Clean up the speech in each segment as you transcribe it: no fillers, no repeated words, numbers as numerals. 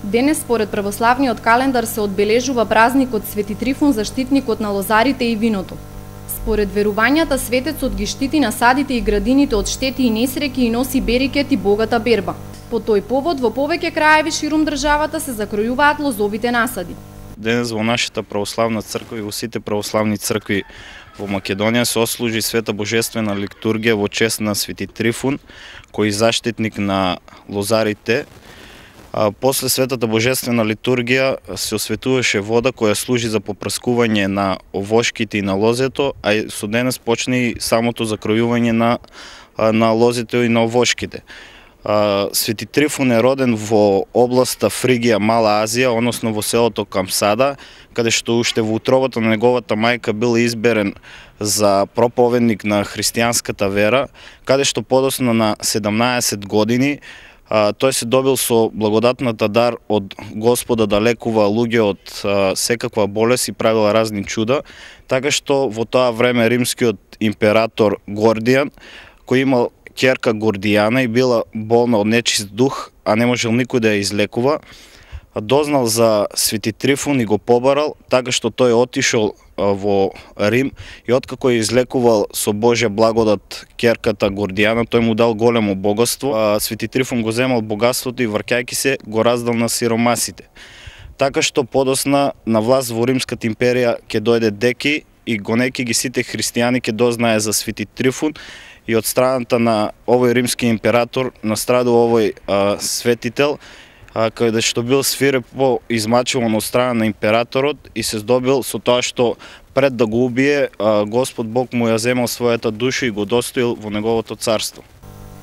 Денес, според православниот календар, се одбележува празникот Свети Трифун, заштитникот на лозарите и виното. Според верувањата, светецот ги штити насадите и градините од штети и несреќи и носи берикет и богата берба. По тој повод, во повеќе краеви ширум државата се закројуваат лозовите насади. Денес во нашата православна црква и во сите православни цркви во Македонија се ослужи света божествена литургија во чест на Свети Трифун, кој е заштитник на лозарите. После светата божествена литургија се осветуваше вода која служи за попрскување на овошките и на лозето, а и со денес почне и самото закројување на лозето и на овошките. Свети Трифун е роден во областа Фригија, Мала Азија, односно во селото Камсада, каде што уште во утробата на неговата мајка бил изберен за проповедник на христијанската вера, каде што подоцна на 17 години тој се добил со благодатната дар од Господа да лекува луѓе од секаква болест и правила разни чуда, така што во тоа време римскиот император Гордијан, кој имал ќерка Гордијана и била болна од нечист дух, а не можел никој да ја излекува, дознал за Свети Трифун и го побарал, така што тој отишол во Рим и откако ја излекувал со Божја благодат ќерката Гордијана, тој му дал големо богатство. Свети Трифун го земал богатството и враќајќи се го раздал на сиромасите. Така што подоцна на власт во Римската империја ќе дојде Деки и гонејќи ги сите христијани ќе дознае за Свети Трифун и од страната на овој римски император настрадува овој светител, каде што бил свирепо измачуван од страна на императорот и се здобил со тоа што пред да го убие, Господ Бог му ја земал својата душа и го достоил во неговото царство.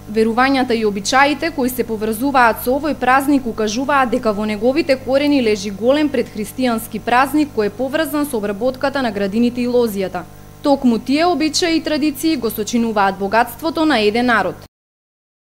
Верувањата и обичаите кои се поврзуваат со овој празник укажуваат дека во неговите корени лежи голем предхристијански празник кој е поврзан со обработката на градините и лозијата. Токму тие обичаи и традиции го сочинуваат богатството на еден народ.